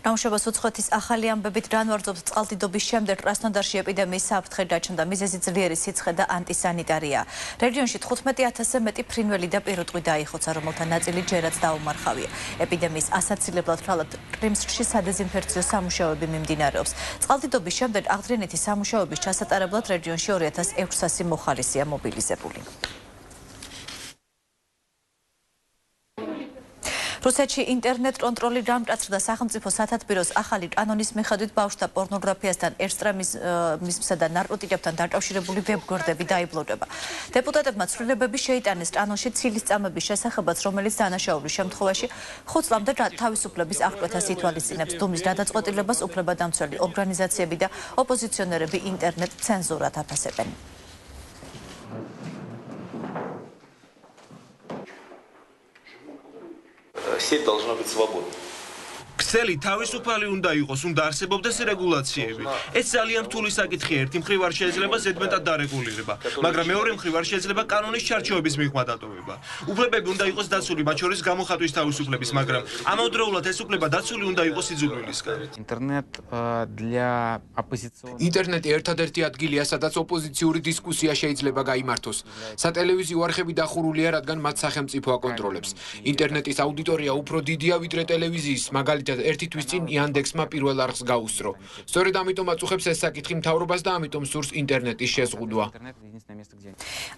Ნამუშევრის უცხოეთის ახალი ამბებით განვარძობს წყალდიდობის შემდეგ კრასნოდარში ეპიდემიის საფრთხე გაჩნდა. მიზეზი ძლიერი სიცხე და ანტისანიტარია. რეგიონში 15,000-ზე მეტი ფრინველი და პირუტყვი დაიხოცა, რომელთა ნაწილი ჯერაც დაუმარხავია. ეპიდემიის ასაცილებლად თვალად კრიმსკში სადეზინფექციო სამუშაოები მიმდინარეობს. წყალდიდობის შემდეგ აღდგენითი სამუშაოების ჩასატარებლად რეგიონში 2600 მოხალისეა მობილიზებული. რუსეთში ინტერნეტ კონტროლი დამტაცდა სახელმწიფო სათათბიროს ახალი კანონის მიხედვით ბავშვთა პორნოგრაფიასთან, ექსტრემიზმსა და ნარკოტიკებთან დაკავშირებული ვებგვერდები დაიბლოკება. დეპუტატებმა ცვლილებები შეიტანეს კანონში ცილის-წამების შესახებაც, რომელიც დანაშაულის შემთხვევაში 5 წლამდე თავისუფლების აღკვეთას ითვალისწინებს. დუმის გადაწყვეტილებას უფლებადამცველი ორგანიზაციები და ოპოზიციონერები ინტერნეტ ცენზურად აფასებენ. Сеть должна быть свободной. ქსელი თავისუფალი უნდა იყოს, უნდა არსებობდეს რეგულაციები. ეს ძალიან რთული საკითხია. ერთი მხრივ არ შეიძლება ზედმეტად დარეგულირება, მაგრამ მეორე მხრივ არ შეიძლება კანონის ჩარჩოების მიღმა დატოვება. უფლებები უნდა იყოს დაცული, მათ შორის გამოხატვის თავისუფლების, მაგრამ ამავდროულად ეს უფლება დაცული უნდა იყოს სიძულვილისგან. ინტერნეტი ერთადერთი ადგილია, სადაც ოპოზიციური დისკუსია შეიძლება გაიმართოს. სატელევიზიო არხები დახურულია, რადგან მათ სახელმწიფო აკონტროლებს. ინტერნეტის აუდიტორია უფრო დიდია ვიდრე ტელევიზიის, მაგალითად ერთი თვის წინ იანდექსმა პირველ არხს გაუსწრო. სწორედ ამიტომ აწუხებს ეს საკითხი მთავრობას და ამიტომ სურს ინტერნეტის შეზღუდვა.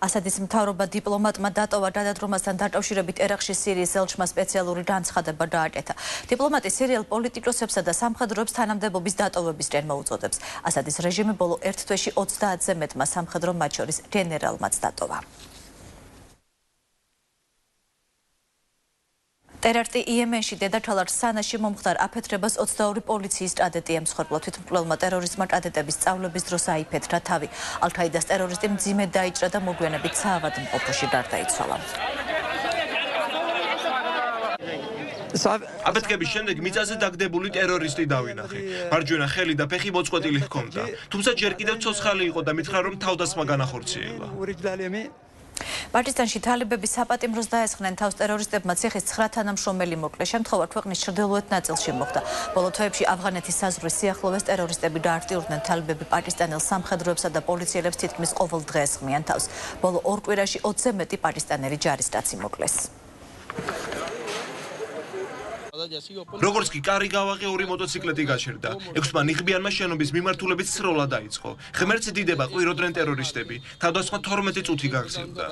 ასადის მთავრობა დიპლომატმა დატოვა გადადგომასთან დაკავშირებით ერაყში სირიის ელჩმა სპეციალური განცხადება გააკეთა. დიპლომატი სირიელ პოლიტიკოსებსა და სამხედროებს თანამდებობის დატოვებისკენ მოუწოდებს. ასადის რეჟიმი ბოლო ერთ თვეში 30-ზე მეტმა სამხედრო, მათ შორის გენერალმაც დატოვა. ტერაქტი იემენში დედაქალაქ სანაში მომხდარ აფეთქებას 22 პოლიციის კადეტი ემსხვერპლა. თვითმკვლელმა ტერორისტმა კადეტების სწავლების დროს აიფეთქა თავი. ალ-ქაიდას ტერორისტი მძიმედ დაიჭრა და მოგვიანებით საავადმყოფოში გარდაიცვალა. აფეთქების შემდეგ მიწაზე დაგდებული ტერორისტი დავინახე. მარჯვენა ხელი და ფეხი მოწყვეტილი ჰქონდა. თუმცა ჯერ კიდევ ცოცხალი იყო და მითხრა, რომ თავდასხმა განახორციელა. პაკისტანში თალიბები საპატიმროს დაესხნენ თავს ტერორისტებმა. ციხის 9 თანამშრომელი მოკლე. შემთხვევა ქვეყნის ჩრდილოეთ ნაწილში მოხდა. ბოლო თვეებში ავღანეთის საზღვრის სიახლოვეს ტერორისტები დაარტიურდნენ. თალიბები პაკისტანელ სამხედროებსა და პოლიციელებს თითქმის ყოველ დღე ესხმიან თავს. ბოლო 2 კვირაში 20-ზე მეტი პაკისტანელი ჯარისკაცი მოკლეს. როგორც კი კარი გავაღე, 2 მოტოციკლეტი გაჩერდა. 6-მა ნიღბიანმა შენობის მიმართულებით სროლა დაიწყო. ღმერთს დიდება ყვიროდნენ ტერორისტები. თავდასხმა 12 წუთი გაგრძელდა.